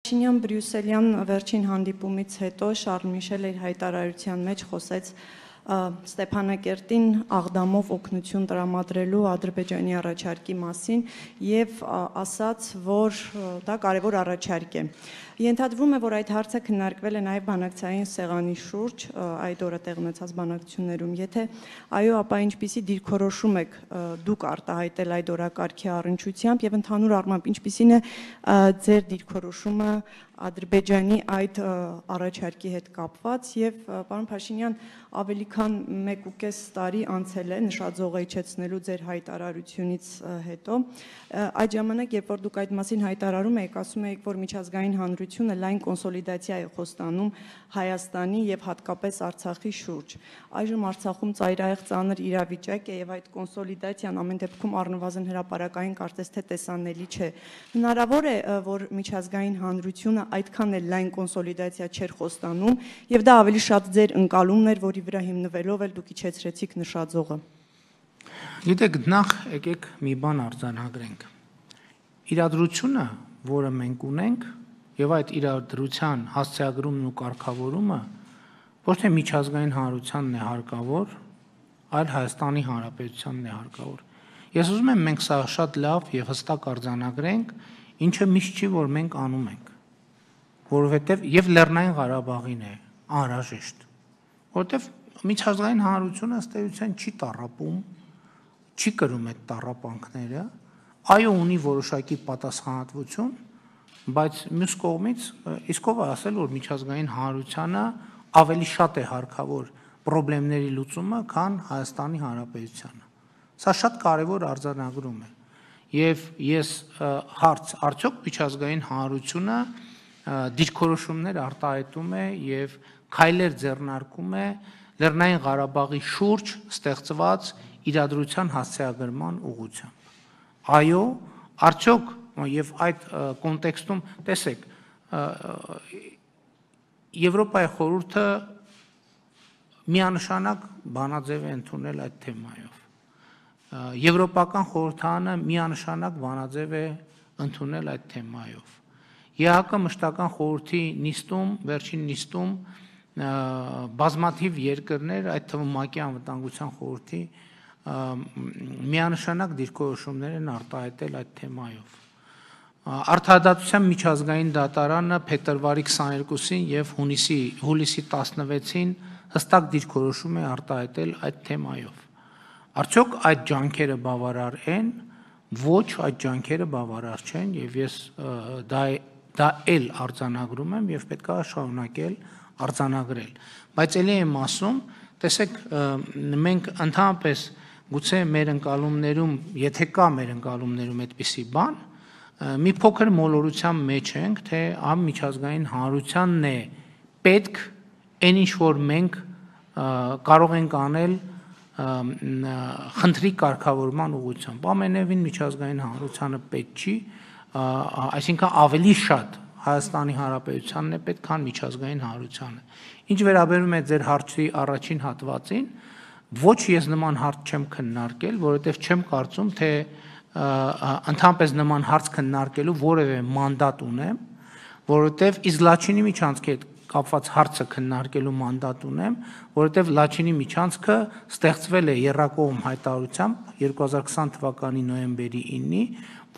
Բրյուսելյան վերջին հանդիպումից հետո Շարլ Միշելը իր հայտարարության մեջ խոսեց Ստեփանակերտին աղդամով օգնություն տրամադրելու Ադրբեջանի առաջարկի մասին եւ ասաց, որ դա կարևոր առաջարկ է։ Ենթադրվում է, որ այդ հարցը քննարկվել է նաև բանակցային սեղանի շուրջ, այդ օրը տեղ ունեցած բանակցություններում։ Եթե այո, ապա ինչպիսի դիրքորոշում եք դուք արտահայտել այդ օրակարգի առնչությամբ եւ ընդհանուր առմամբ ինչպիսին է ձեր դիրքորոշումը Ադրբեջանի այդ առաջարկի հետ կապված եւ պարոն Փաշինյան, ավելի քան 1.5 տարի անցել է նշաձողը իջեցնելու ձեր հայտարարությունից հետո։ Այդ ժամանակ, երբ որ դուք այդ մասին հայտարարում եք, ասում եք, որ միջազգային հանրությունը լայն կոնսոլիդացիա է խոստանում Հայաստանի եւ հատկապես Արցախի շուրջ։ Այժմ Արցախում ծայրահեղ ծանր իրավիճակ է եւ այդ կոնսոլիդացիան ամեն դեպքում առնվազն հրապարակային կարծես թե տեսանելի չէ։ Հնարավոր է, որ միջազգային հանրությունը այդքան էլ լայն կոնսոլիդացիա չէր խոստանում եւ դա ավելի շատ ձեր ընկալումն էր, որի վրա հիմնվելով էլ դուք իջեցրեցիք նշաձողը։ Գիտեք, նախ եկեք մի բան արձանագրենք։ Իրադրությունը, որը մենք ունենք, եւ այդ իրադրության հասցեագրումն ու կարգավորումը ոչ թե միջազգային հանրությանն է հարկավոր, այլ Հայաստանի Հանրապետությանն է հարկավոր։ Ես ուզում եմ մենք սա շատ լավ եւ հստակ արձանագրենք, ինչը միշտ չի, որ մենք անում ենք, որովհետեւ եւ Լեռնային Ղարաբաղին է անհրաժեշտ, որովհետեւ միջազգային հանրությունը ըստ էության չի տառապում, չի կրում այդ տառապանքները, այո ունի որոշակի պատասխանատվություն, բայց մյուս կողմից իսկ ով է ասել, որ միջազգային հանրությանը ավելի շատ է հարկավոր խնդիրների լուծումը, քան Հայաստանի Հանրապետությանը։ Սա շատ կարևոր արձանագրում է։ Եվ ես հարց, արդյոք միջազգային հանրությունը դիրքորոշումներ արտահայտում է եւ քայլեր ձեռնարկում է Լեռնային Ղարաբաղի շուրջ ստեղծված իրադրության հասցեագրման ուղղությամբ։ Այո, արդյոք եւ այդ կոնտեքստում տեսեք, Եվրոպայի խորհուրդը միանշանակ բանաձև է ընդունել այդ թեմայով։ Եվրոպական խորհրդարանը միանշանակ բանաձև է ընդունել այդ թեմայով։ ԵԱՀԿ մշտական խորհրդի նիստում, վերջին նիստում բազմաթիվ երկրներ, այդ թվում ՄԱԿ-ի անվտանգության խորհրդի միանշանակ դիրքորոշումներ են արտահայտել այդ թեմայով։ Արդարադատության միջազգային դատարանը փետրվարի 22-ին եւ հուլիսի 16-ին հստակ դիրքորոշում է արտահայտել այդ թեմայով։ Արդյոք այդ ջանքերը բավարար են? Ոչ, այդ ջանքերը բավարար չեն եւ ես դա էլ արձանագրում եմ եւ պետք է շարունակել արձանագրել։ Բայց ելի եմ ասում, տեսեք, մենք ընդհանրապես գուցե մեր ընկալումներում, եթե կա մեր ընկալումներում այդպիսի բան, մի փոքր մոլորության մեջ ենք, թե միջազգային հանրությանն է պետք այն ինչ որ մենք կարող ենք անել խնդրի կարգավորման ուղղությամբ։ Ամենևին միջազգային հանրությանը պետք չի, այսինքն ավելի շատ Հայաստանի Հանրապետությանն է պետք, քան միջազգային հանրությանը։ Ինչ վերաբերում է ձեր հարցի առաջին հատվածին, ոչ ես նման հարց չեմ քննարկել, որովհետև չեմ կարծում, թե ընդհանրապես նման հարց քննարկելու որևէ մանդատ ունեմ, որովհետև իսկ Լաչինի միջանցքի հետ կապված հարցը քննարկելու մանդատ ունեմ, որովհետև Լաչինի միջանցքը ստեղծվել է եռակողմ հայտարարությամբ 2020 թվականի նոյեմբերի 9-ի,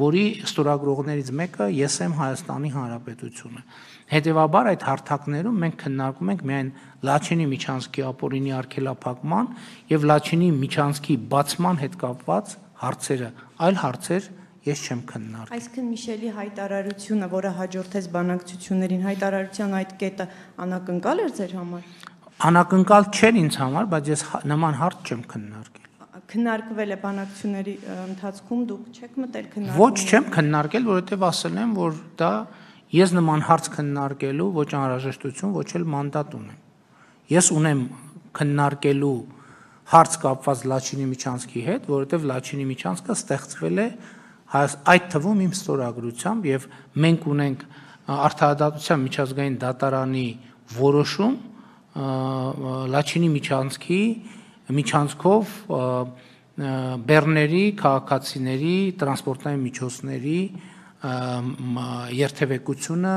որի ստորագրողներից մեկը ես եմ Հայաստանի Հանրապետությունը։ Հետևաբար այդ հարթակներում մենք քննարկում ենք միայն Լաչինի միջանցքի ապօրինի արգելափակման եւ Լաչինի միջանցքի բացման հետ կապված հարցերը, այլ հարցեր ես չեմ քննարկել։ Այսինքն Միշելի հայտարարությունը, որը հաջորդեց բանակցություններին, հայտարարության այդ կետը անակնկալ էր ձեր համար։ Անակնկալ չէր ինձ համար, բայց ես նման հարց չեմ քննարկել։ Քննարկվել է բանակցությունների ընթացքում, դուք չեք մտել քննարկել։ Ոչ, չեմ քննարկել, որովհետև ասել եմ, որ դա ես նման հարց քննարկելու ոչ անհրաժեշտություն, ոչ էլ մանդատ ունեմ։ Ես ունեմ քննարկելու հարց կապված Լաչինի միջանցքի հետ, որովհետև Լաչինի միջանցքը ստեղծվել է այդ թվում իմ ստորագրությամբ եւ մենք ունենք արդարադատության միջազգային դատարանի որոշում Լաչինի միջանցքով բեռների, քաղաքացիների, տրանսպորտային միջոցների երթևեկությունը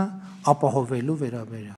ապահովելու վերաբերյալ։